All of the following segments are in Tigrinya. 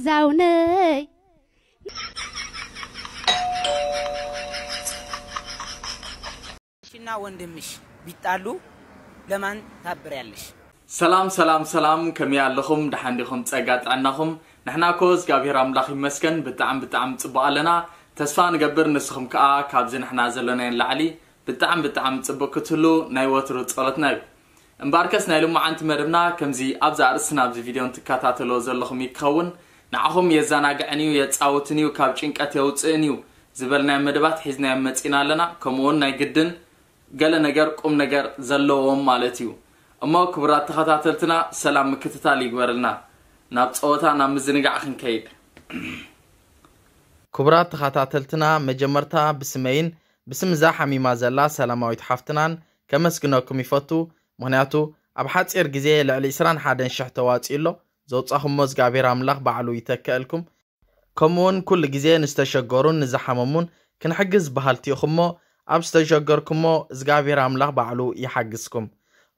ዛውነይ ሽና ወንድምሽ ቢጣሉ ለማን ታብርያለሽ። ሰላም ሰላም ሰላም፣ ከመይ ኣለኹም? ደሓን ዲኹም? ጸጋ ጥዕናኹም? ንሕና እኮ እግዚኣብሔር ኣምላኽ ይመስገን ብጣዕሚ ብጣዕሚ ጽቡቕ ኣለና። ተስፋ ንገብር ንስኹም ከኣ ካብዚ ንሕና ዘለናዮ ንላዕሊ ብጣዕሚ ብጣዕሚ ጽቡቕ ክትህሉ ናይ ወትሩ ጸሎትና እዩ። እምበኣርከስ ናይ ሎማዓንቲ መደብና ከምዚ ኣብዚ ኣርእስትና ኣብዚ ቪድዮ እንትከታተልዎ ዘለኹም እዩ ክኸውን። ንዓኹም የዘናግዕን እዩ፣ የጻውትን እዩ፣ ካብ ጭንቀት የውጽእን እዩ ዝበልናዮ መደባት ሒዝናዮም መጺና ኣለና። ከምኡውን ናይ ግድን ገለ ነገር ቁም ነገር ዘለዎም ማለት እዩ። እሞ ክቡራት ተኸታተልትና ሰላም ምክትታል ይግበርልና። ናብ ጸወታ ናብ ምዝንጋዕ ክንከይድ። ክቡራት ተኸታተልትና መጀመርታ ብስመይን ብስም እዛ ሓሚማ ዘላ ሰላማዊት ሓፍትናን ከመስግነኩም ይፈቱ። ምኽንያቱ ኣብ ሓጺር ግዜ ልዕሊ ዕስራን ሓደን ሽሕ ተዋጺኡ ኣሎ። ዘውጻኹሞ እግዚኣብሔር ኣምላኽ ባዕሉ ይተክአልኩም። ከምኡውን ኩሉ ግዜ ንዝተሸገሩን ንዝሓመሙን ክንሕግዝ በሃልቲ ኢኹሞ ኣብ ዝተሸገርኩሞ እግዚኣብሔር ኣምላኽ ባዕሉ ይሓግዝኩም።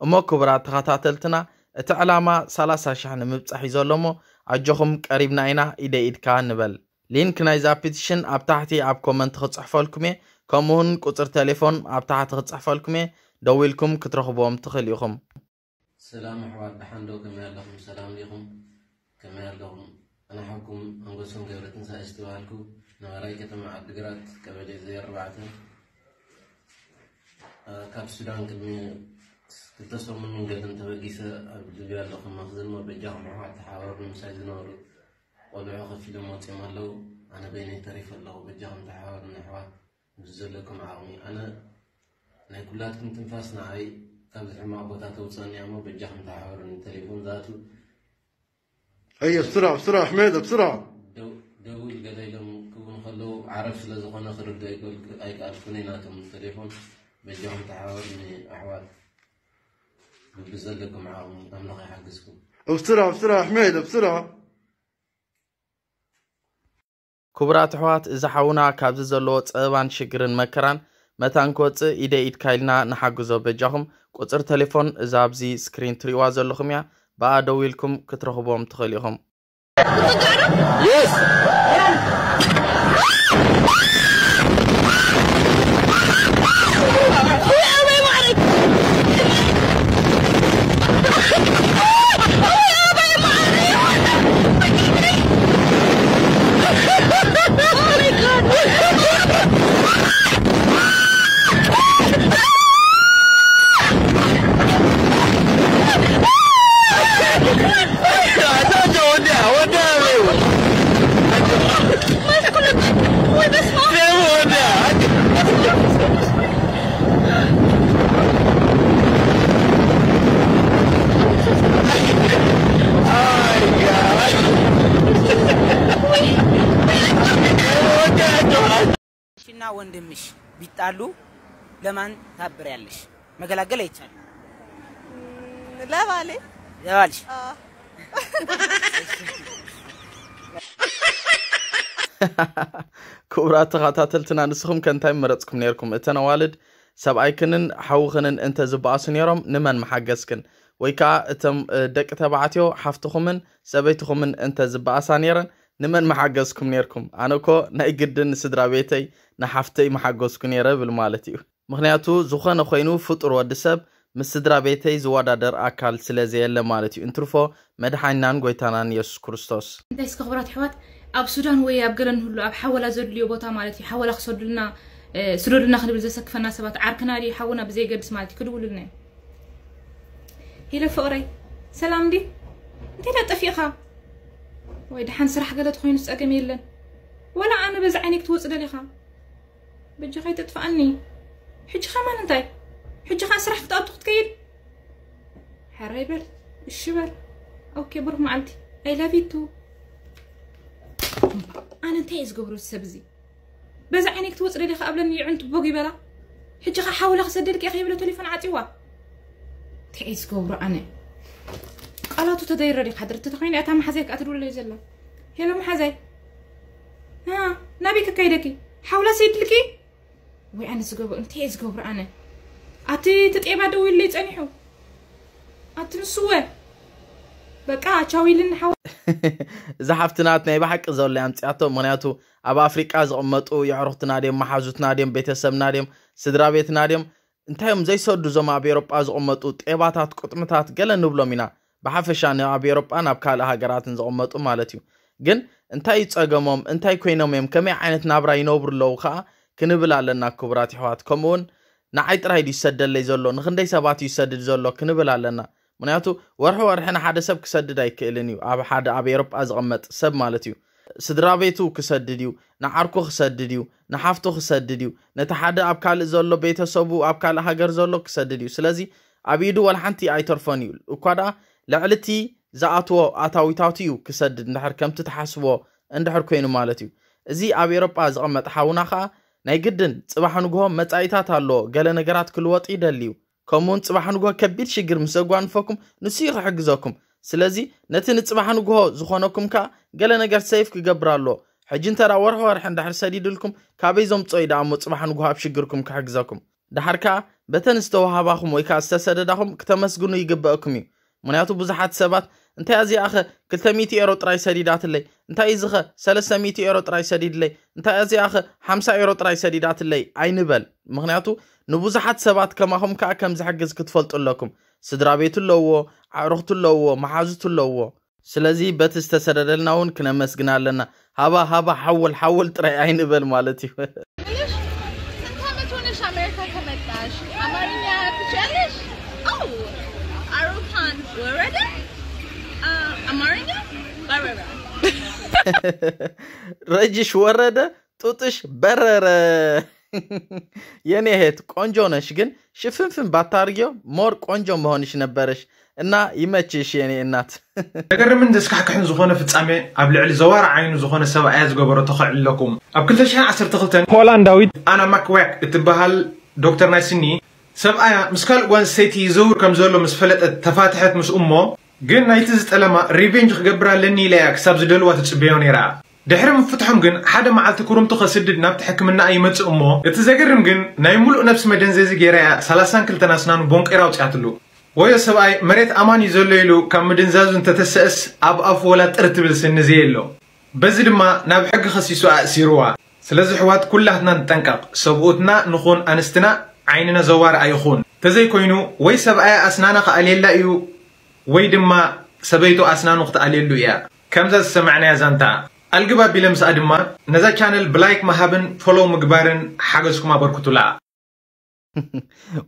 እሞ ክቡራት ተኸታተልትና እቲ ዕላማ ሰላሳ ሽሕ ንምብጻሕ እዩ ዘሎ እሞ ኣጆኹም ቀሪብና ኢና ኢደ ኢድካ ንበል። ሊንክ ናይዛ ፒቲሽን ኣብ ታሕቲ ኣብ ኮመንት ክጽሕፈልኩም እየ። ከምኡውን ቁጽሪ ቴሌፎን ኣብ ታሕቲ ክጽሕፈልኩም እየ። ደዊልኩም ክትረኽብዎም ትኽእሉ ኢኹም። ሰላም ኣሕዋት ደሓን ዶ ከመይ ኣለኹም ሰላም ዲኹም ከመይ ኣለኹም ኣነ ሓውኩም ኣንጎሶም ገብረትንሳኤ ዝተባሃልኩ ነባራይ ከተማ ዓዲግራት ቀበሌ ዘይ ኣርባዕተ ካብ ሱዳን ቅድሚ ክልተ ሰሙን መንገድን ተበጊሰ ኣብ ሊብያ ኣለኹ መኽዝን ሞ በጃኹም ኣሕዋት ተሓባበሩኒ ምሳይ ዝነበሩ ቆልዑ ከፊሎም ወፂኦም ኣለዉ ኣነ በይነይ ተሪፈ ኣለኹ በጃኹም ተሓባበሩኒ ኣሕዋት ብዘለኩም ዓቕሚ ኣነ ናይ ኩላትኩም ትንፋስ ንዓይ ካብዚ ሕማቕ ቦታ ተውፅኣኒ እያ እሞ በጃኹም ተሓባበሩኒ ተሌፎን ዝኣትዉ هيا بسرعة بسرعة يا حميدة بسرعة ደው- ደውል ገለ ኢሎም ክብሉ ከለዉ ዓረብ ስለ ዝኾነ ክርዶ ኣይከኣልኩን እየ ናቶም ተሌፎን በጃኹም ተሓባበሩኒ ኣሕዋት ብዘለኩም ዓቕሚ ኣምላኽ ይሓግዝኩም بسرعة بسرعة يا حميدة بسرعة ክቡራት ኣሕዋት እዚ ሓውና ካብዚ ዘለዎ ጸበባን ሽግርን መከራን መታን ክወጽእ ኢደ ኢድካ ኢልና ንሓግዞ በጃኹም። ቁጽሪ ተሌፎን እዛ ኣብዚ ስክሪን ትሪእዋ ዘለኹም እያ። ብኣ ደዊልኩም ክትረኽብዎም ትኽእሉ ኢኹም። ሽና ወንድምሽ ቢጣሉ ለማን ታብርያለሽ። መገላገል አይቻልም። ለባሌ ለባልሽ አዎ። ክቡራት ተኸታተልትና ንስኹም ከ እንታይ መረፅኩም ነርኩም? እተን ኣዋልድ ሰብኣይክንን ሓውኽንን እንተ ዝበኣሱ ነይሮም ንመን መሓገዝክን? ወይ ከዓ እቶም ደቂ ተባዕትዮ ሓፍትኹምን ሰበይትኹምን እንተ ዝበኣሳ ነይረን ንመን መሓገዝኩም ነርኩም? ኣነ እኮ ናይ ግድን ንስድራ ቤተይ ንሓፍተይ መሓገዝኩ ነይረ ብል ማለት እዩ። ምኽንያቱ ዝኾነ ኮይኑ ፍጡር ወዲ ሰብ ምስ ስድራ ቤተይ ዝወዳደር ኣካል ስለ ዘየለ ማለት እዩ። እንትርፎ መድሓኒናን ጎይታናን የሱስ ክርስቶስ። እንታይ እስከ ክቡራት ኣሕዋት ኣብ ሱዳን ወይ ኣብ ገለ ንህሉ ኣብ ሓወላ ዘድልዮ ቦታ ማለት እዩ ሓወላ ክሰዱልና ስደዱልና ክንብል ዘሰክፈና ሰባት ዓርክና ድዩ ሓውና ብዘየገድስ ማለት እዩ ክድውሉልና እዮም። ሄሎ ፍቕረይ ሰላም ድዩ? እንታይ ዳ ጠፊእኻ? ወይ ደሓን ስራሕ ገለ ተኾይኑ ጸገም የለን። ወላ ኣነ በዚ ዓይነይ ክትወጽእ ደሊኻ? በጃኻ ኣይተጥፍኣኒ። ሕጂ ከማን እንታይ? ሕጂ ከኣ ስራሕ ክትኣቱ ክትከይድ? ሕራይ በል እሺ በል። ኦኬ ብሩኽ መዓልቲ። I love you too። ኣነ እንታይ እየ ዝገብሮ እዚ ሰብ እዚ? በዛ ዓይነይ ክትወፅእ ደሊኻ ኣብለኒ ይዕንቱ ቦግ ይበላ። ሕጂ ኸ ሓውላ ክሰደልኪ እየ ከይብለ ቴሌፎን ዓፂዋ። እንታይ እየ ዝገብሮ ኣነ? ቃላቱ ተደይረ ዲኻ ድርቲ ተኾይነ እታ መሓዛይ ከኣ ትድውለለይ ዘላ። ሄሎ መሓዛይ። ና ናበይ ከካይደኪ? ሓውላ ሰይድልኪ? ወይ ኣነ ዝገብሮ እንታይ እየ ዝገብሮ ኣነ? ኣቲ እቲ ጤባ ደው ኢለይ ጸኒሑ። ኣቲ ንስወ በቃ ቻው ኢልን ሓው እዛ ሓፍትናት ናይ ብሓቂ ዘሎ ኣምፅኣቶ። ምክንያቱ ኣብ ኣፍሪቃ ዝቕመጡ የዕሩኽትና ድዮም፣ መሓዙትና ድዮም፣ ቤተሰብና ድዮም፣ ስድራ ቤትና ድዮም፣ እንታይ እዮም ዘይሰዱ እዞም ኣብ ኤሮጳ ዝቕመጡ ጤባታት፣ ቁጥምታት ገለ ንብሎም ኢና። ብሓፈሻ ን-፣ ኣብ ኤሮጳን ኣብ ካልእ ሃገራትን ዝቕመጡ ማለት እዩ። ግን እንታይ እዩ ጸገሞም? እንታይ ኮይኖም እዮም? ከመይ ዓይነት ናብራ ይነብሩ ኣለዉ ከኣ ክንብል ኣለና ክቡራት ይሕዋት። ከምኡውን ንዓይ ጥራይ ድዩ ይሰደለይ ዘሎ? ንኽንደይ ሰባት እዩ ይሰድድ ዘሎ? ክንብል ኣለና። ምኽንያቱ ወርሒ ወርሒ ንሓደ ሰብ ክሰድድ ኣይክእልን እዩ። ኣብ ሓደ ኣብ ኤሮጳ ዝቕመጥ ሰብ ማለት እዩ። ስድራ ቤቱ ክሰድድ እዩ፣ ንዓርኩ ክሰድድ እዩ፣ ንሓፍቱ ክሰድድ እዩ፣ ነቲ ሓደ ኣብ ካልእ ዘሎ ቤተሰቡ ኣብ ካልእ ሃገር ዘሎ ክሰድድ እዩ። ስለዚ ኣብ ኢዱ ወላ ሓንቲ ኣይተርፎን እዩ። እኳ ደኣ ልዕሊ እቲ ዝኣትዎ ኣታዊታቱ እዩ ክሰድድ እንድሕር ከምቲ ትሓስብዎ እንድሕር ኮይኑ ማለት እዩ። እዚ ኣብ ኤሮጳ ዝቐመጠ ሓውና ኸኣ ናይ ግድን ጽባሕ ንግሆ መጻኢታት ኣለዎ። ገለ ነገራት ክልወጥ ይደሊ እዩ። ከምኡውን ጽባሕ ንግሆ ከቢድ ሽግር ምስ ዘጓንፈኩም ንሱ እዩ ክሕግዘኩም። ስለዚ ነቲ ንጽባሕ ንግሆ ዝኾነኩም ከኣ ገለ ነገር ሰይፍ ክገብር ኣለዎ። ሕጂ እንተ ደኣ ወርሒ ወርሒ እንድሕር ሰዲድልኩም ካበይ ዘምጽኦ እዩ ደኣ እሞ ጽባሕ ንግሆ ኣብ ሽግርኩም ክሕግዘኩም? ደሓር ከኣ በተን ዝተዋህባኹም ወይ ከኣ ዝተሰደዳኹም ክተመስግኑ ይግበአኩም እዩ። ምኽንያቱ ብዙሓት ሰባት እንታይ እዚኣኸ ክልተ ሚእቲ ኤሮ ጥራይ ሰዲዳትለይ፣ እንታይ እዚኸ ሰለስተ ሚእቲ ኤሮ ጥራይ ሰዲድለይ፣ እንታይ እዚኣኸ ሓምሳ ኤሮ ጥራይ ሰዲዳትለይ ኣይንበል። ምኽንያቱ ንብዙሓት ሰባት ከማኹም ከኣ ከም ዝሕግዝ ክትፈልጡ ኣለኩም። ስድራ ቤቱ ኣለዎ፣ ኣዕሩኽቱ ኣለዎ፣ መሓዙቱ ኣለዎ። ስለዚ በቲ ዝተሰደደልና እውን ክነመስግን ኣለና። ሃባ ሃባ ሓወል ሓወል ጥራይ ኣይንበል ማለት እዩ። ስንት ዓመት ሆነሽ አሜሪካ ከመጣሽ? አማርኛ ትችያለሽ? አዎ። አውሮፓን ወረደ። አ፣ አማርኛ በረረ። ረጅሽ ወረደ፣ ጡጥሽ በረረ። የኔ እህት ቆንጆ ነሽ፣ ግን ሽፍንፍን ባታርጊዮ ሞር ቆንጆ መሆንሽ ነበረሽ። እና ይመችሽ የኔ እናት። ዘገርምን ዘስካሕክሕን ዝኾነ ፍጻሜ ኣብ ልዕሊ ዘዋር ዓይኑ ዝኾነ ሰብኣያ ዝገበሮ ተኸዕልለኩም። ኣብ ክልተ ሽሕን ዓሰርተ ክልተን ሆላንዳዊት ኣና ማክዋክ እትበሃል ዶክተር ናይ ስኒ ሰብኣያ ምስ ካልእ ጓል ሰይቲ ይዘውር ከም ዘሎ ምስ ፈለጠት ተፋትሐት ምስ እሞ፣ ግን ናይቲ ዝጠለማ ሪቬንጅ ክገብር ኣለኒ ኢላ እያ ክሳብ ዝደልዋ ትጽበዮ ነይራ። ድሕሪ ምፍትሖም ግን ሓደ መዓልቲ ክሩምቱ ከስድድ ናብቲ ሕክምና ይመጽእ እሞ፣ እቲ ዘገርም ግን ናይ ሙሉእ ነብሲ መደንዘዚ ገይራ እያ ሰላሳን ክልተን ኣስናኑ ቦንቂራ ኣውጺኣትሉ። ወዮ ሰብኣይ መሬት ኣማን እዩ ዘሎ ኢሉ ካብ ምድንዛዙ እንተተሰእስ ኣብ ኣፉ ወላ ጥር ትብል ስኒ ዘየሎ። በዚ ድማ ናብ ሕጊ ከሲሱ ኣእሲርዋ። ስለዚ ኣሕዋት ኩላትና ንጠንቀቕ፣ ሰብኡትና ንኹን ኣንስትና ዓይንና ዘዋር ኣይኹን። ተዘይኮይኑ ወይ ሰብኣያ ኣስናና ክኣልየላ እዩ ወይ ድማ ሰበይቱ ኣስናኑ ክትኣልየሉ እያ። ከምዛ ዝሰማዕናያ ዛንታ ኣልግብ ኣቢለ ምስኣ ድማ ነዛ ቻነል ብላይክ ምሃብን ፎሎው ምግባርን ሓገዝኩም ኣበርክቱላ።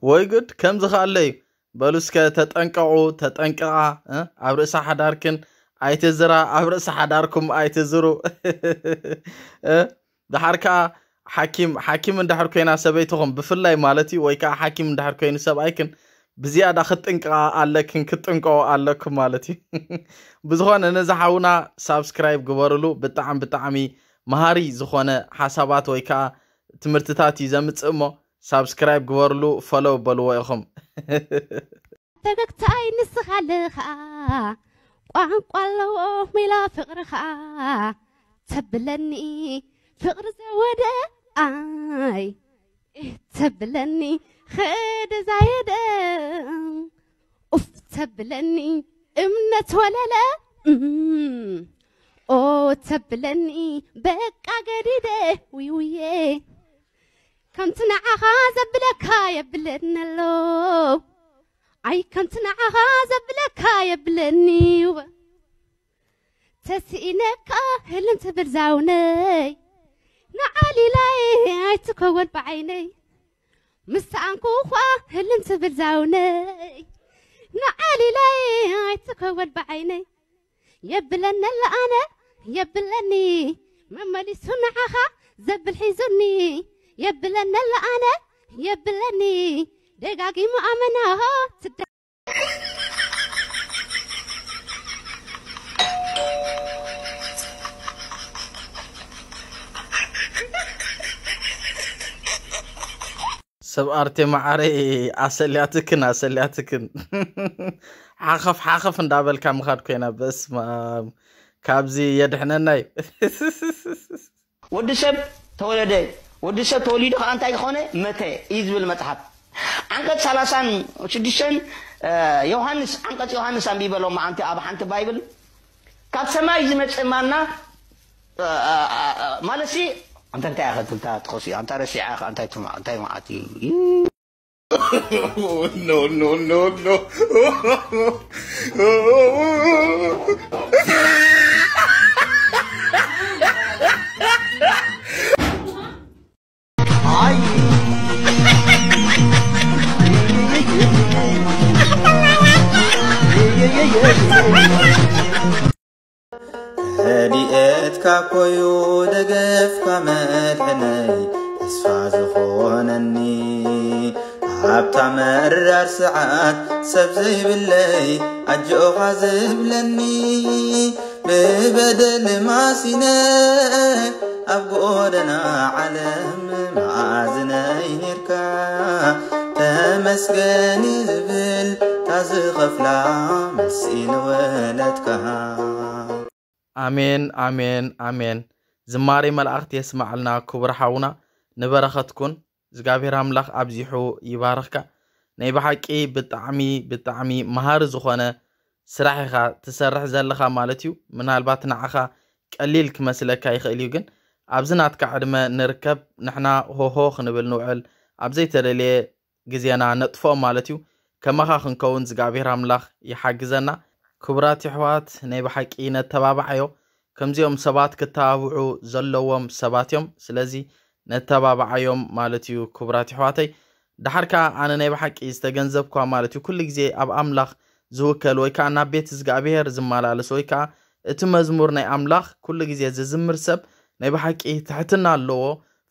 ወይ ጉድ ከምዚ ከኣለ እዩ። በሉ እስከ ተጠንቀቑ፣ ተጠንቀቓ፣ እ? ኣብ ርእሲ ሓዳርክን ኣይትዝራ፣ ኣብ ርእሲ ሓዳርኩም ኣይትዝሩ። እ? ደሓር ከኣ ሓኪም ሓኪም እንድሕር ኮይና ሰበይትኹም ብፍላይ ማለት እዩ፣ ወይ ከኣ ሓኪም እንድሕር ኮይኑ ሰብኣይክን ብዝያዳ ክትጥንቀቓ ኣለክን ክትጥንቀቑ ኣለኩም ማለት እዩ። ብዝኾነ ነዚ ሓውና ሳብስክራይብ ግበርሉ። ብጣዕሚ ብጣዕሚ መሃሪ ዝኾነ ሓሳባት ወይ ከኣ ትምህርትታት እዩ ዘምጽእ እሞ ሳብስክራይብ ግበርሉ፣ ፎሎው በልዎ ኢኹም። ፈገግታይ ንስኻ ኣለኻ ቋንቋ ኣለዎ ሜላ ፍቕርኻ ተብለኒ ፍቕሪ ዘወደ ኣይ ተብለኒ ኸደ ዛየደ ኡፍ ተብለኒ እምነት ወለለ እም፣ ኦ ተብለኒ በቃ ገዲደ ውይውየ ከምቲ ንዓኻ ዘብለካ የብለኒ ኣሎ ኣይ ከምቲ ንዓኻ ዘብለካ የብለኒ ተስኢነካ ህልም ትብል ዛውነይ ንዓሊላይ ኣይትከወል ብዓይነይ ምስ ሰኣንኩ እኳ ህልም ትብል ዛውነይ ንዓሊላይ ኣይትከወል ብዓይነይ የብለኒ ኣሎ ኣነ የብለኒ መመሊሱ ንዓኻ ዘብል ሒዙኒ የብለኒ ኣሎ ኣነ የብለኒ ደጋጊሙ ኣመናሆ ትደ ሰብ ኣርቴ መዓረይ ኣሰልያትክን ኣሰልያትክን ሓኸፍ ሓኸፍ እንዳበልካ ምኻድ ኮይና በስመ ኣብ ካብዚ የድሕነና እዩ። ወዲ ሰብ ተወለደ፣ ወዲ ሰብ ተወሊዱ ከዓ እንታይ ዝኾነ መተ እዩ ዝብል መፅሓፍ። ዓንቀፅ ሰላሳን ሽዱሽተን ዮሃንስ ዓንቀፅ ዮሃንስ ኣንቢበሎም መዓንቲ ኣብ ሓንቲ ባይብል ካብ ሰማይ ዝመጽእ ማና፣ እ፣ እ፣ እ፣ ማለት ሲ፣ ኣንታ እንታይ ኢኻ ትብል፣ እታ ትኸሲ፣ ኣንታ ረሲዓ ኢኻ፣ እንታይ ትማ-፣ እንታይ መዓት እዩ? No, no, no, no. ረድኤትካ ኮዩ ደገፍካ መድሕነይ ተስፋ ዝኾነኒ ኣብታ መራር ሰዓት ሰብ ዘይብለይ ኣጆኻ ዝብለኒ ብበደል ማሲነ ኣብ ጎደና ዓለም መኣዝነይ ኔርካ ተመስገን ዝብል ታዝኸፍላ መልሲ ንወለትካ ኣሜን ኣሜን ኣሜን። ዝማሬ መላእኽት የስማዕልና ክቡር ሓውና፣ ንበረኸትኩን እግዚኣብሔር ኣምላኽ ኣብዚሑ ይባርኽካ። ናይ ብሓቂ ብጣዕሚ ብጣዕሚ መሃሪ ዝኾነ ስራሕ ኢኻ ትሰርሕ ዘለኻ ማለት እዩ። ምናልባት ንዓኻ ቀሊል ክመስለካ ይኽእል እዩ፣ ግን ኣብዚ ናትካ ዕድመ ንርከብ ንሕና ሆሆ ክንብል ንውዕል ኣብ ዘይተደልየ ግዜና ነጥፍኦ ማለት እዩ። ከማኻ ክንከውን እግዚኣብሔር ኣምላኽ ይሓግዘና። ክቡራት የሕዋት ናይ ብሓቂ ነተባብዓዮ። ከምዚኦም ሰባት ክተባብዑ ዘለዎም ሰባት እዮም። ስለዚ ነተባብዓዮም ማለት እዩ ክቡራት የሕዋተይ። ደሓር ከኣ ኣነ ናይ ብሓቂ ዝተገንዘብኳ ማለት እዩ ኩሉ ግዜ ኣብ ኣምላኽ ዝውከል ወይ ከኣ ናብ ቤት እግዚኣብሔር ዝመላለስ ወይ ከኣ እቲ መዝሙር ናይ ኣምላኽ ኩሉ ግዜ ዝዝምር ሰብ ናይ ብሓቂ ትሕትና ኣለዎ፣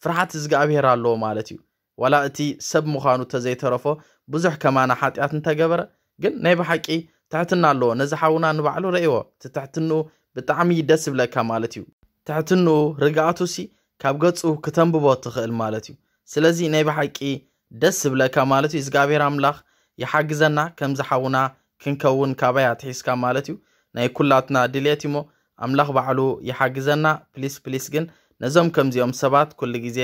ፍርሓት እግዚኣብሔር ኣለዎ ማለት እዩ። ዋላ እቲ ሰብ ምዃኑ ተዘይተረፎ ብዙሕ ከማና ሓጢኣት እንተገበረ ግን ናይ ብሓቂ ትሕትና ኣለዎ። ነዚ ሓውና ንባዕሉ ረእይዎ፣ እቲ ትሕትንኡ ብጣዕሚ ደስ ዝብለካ ማለት እዩ። ትሕትንኡ ርግኣቱሲ ካብ ገጹ ክተንብቦ ትኽእል ማለት እዩ። ስለዚ ናይ ብሓቂ ደስ ዝብለካ ማለት እዩ። እግዚኣብሔር ኣምላኽ ይሓግዘና ከምዚ ሓውና ክንከውን ካባይ ኣትሒዝካ ማለት እዩ። ናይ ኩላትና ድልየት እዩሞ ኣምላኽ ባዕሉ ይሓግዘና። ፕሊስ ፕሊስ ግን ነዞም ከምዚኦም ሰባት ኩሉ ግዜ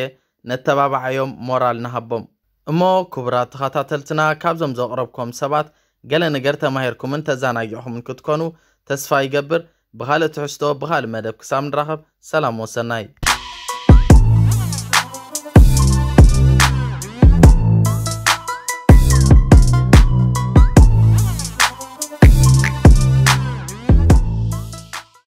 ነተባብዓዮም፣ ሞራል ንሃቦም። እሞ ክቡራት ተኸታተልትና ካብዞም ዘቕረብኩም ሰባት ገለ ነገር ተማሂርኩምን ተዘናጊዕኹምን ክትኮኑ ተስፋ ይገብር። ብኻልእ ትሕዝቶ ብኻልእ መደብ ክሳብ ንራኸብ ሰላም ወሰናይ።